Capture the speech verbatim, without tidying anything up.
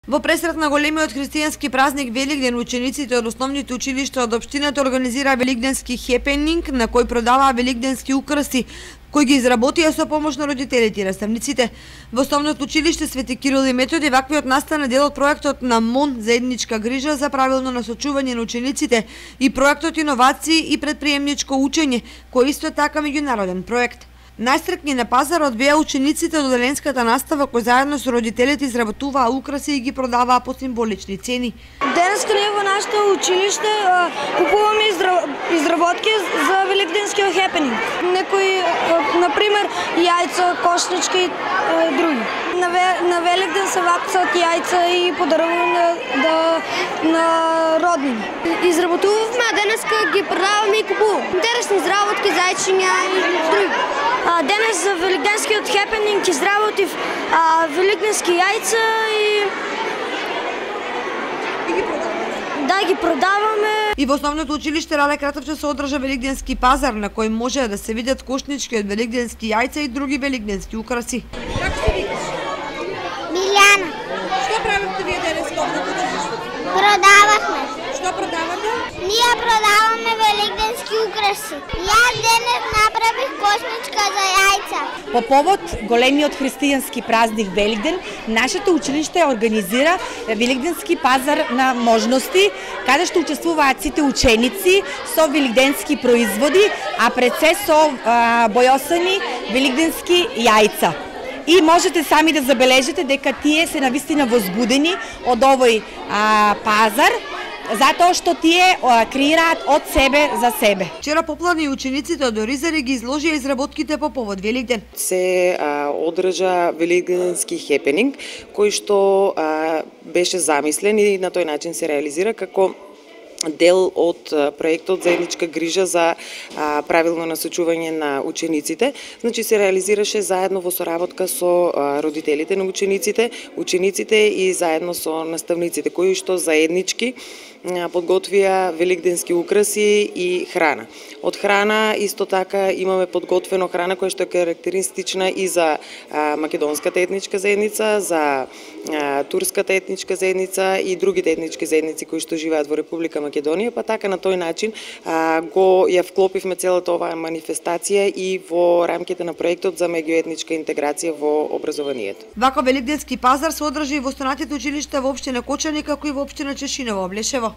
Во пресрет на големиот христијански празник Великден, учениците од основните училишта од општината организираа великденски хепенинг на кој продаваа великденски украси, кои ги изработија со помош на родителите и наставниците. Во основното училиште Свети Кирил и Методи ваквиот настана дел од проектот на МОН заедничка грижа за правилно насочување на учениците и проектот Иновации и предприемничко учење, кој исто така меѓународен проект. Најстрекни на пазарот беа учениците од оделенската настава кои заедно со родителите изработуваа украси и ги продаваа по символични цени. Денеска ние во нашето училиште купуваме изработки за великденскиот хепенинг. Некои, например, јајца, кошнички и други. На, на Великден се вапцат јајца и подаруваме на, на роднини. Изработувавме, а денеска ги продаваме и купуваме. Интересни изработки, зајчиња и други. Денес за великденскиот хепенинг изработив великденски јајца и да ги продаваме. И во основното училиште Рале Кратовче се одржа великденски пазар на кој може да се видат кошнички од великденски јајца и други великденски украси. Како се викаш? Милјана. Што правите вие денес во училиштето? Продававме. Што продавате? Ние продаваме великденски украси. Јас денес направих кошничка за јајца. По повод големиот христијански празник Великден, нашето училиште организира великденски пазар на можности, каде што учествуваат сите ученици со великденски производи, а пред се со а, бојосани великденски јајца. И можете сами да забележите дека тие се навистина возбудени од овој а, пазар, затоа што тие а, креираат од себе за себе. Вчера попладни учениците од Оризари ги изложија изработките по повод Великден. Се а, одржа великденски хепенинг, кој што а, беше замислен и на тој начин се реализира како дел од проектот заедничка грижа за а, правилно насочување на учениците. Значи се реализираше заедно во соработка со а, родителите на учениците, учениците и заедно со наставниците, кои што заеднички а, подготвија великденски украси и храна. Од храна исто така имаме подготвено храна која што е карактеристична и за а, македонската етничка заедница, за а, турската етничка заедница и другите етнички заедници кои што живеат во Република Македонија, па така на тој начин а, го ја вклопивме целата оваа манифестација и во рамките на проектот за меѓуетничка интеграција во образованието. Вака великденски пазар се одржи и во останатите училишта во општина Кочани, како и во општина Чешиново, Облешево.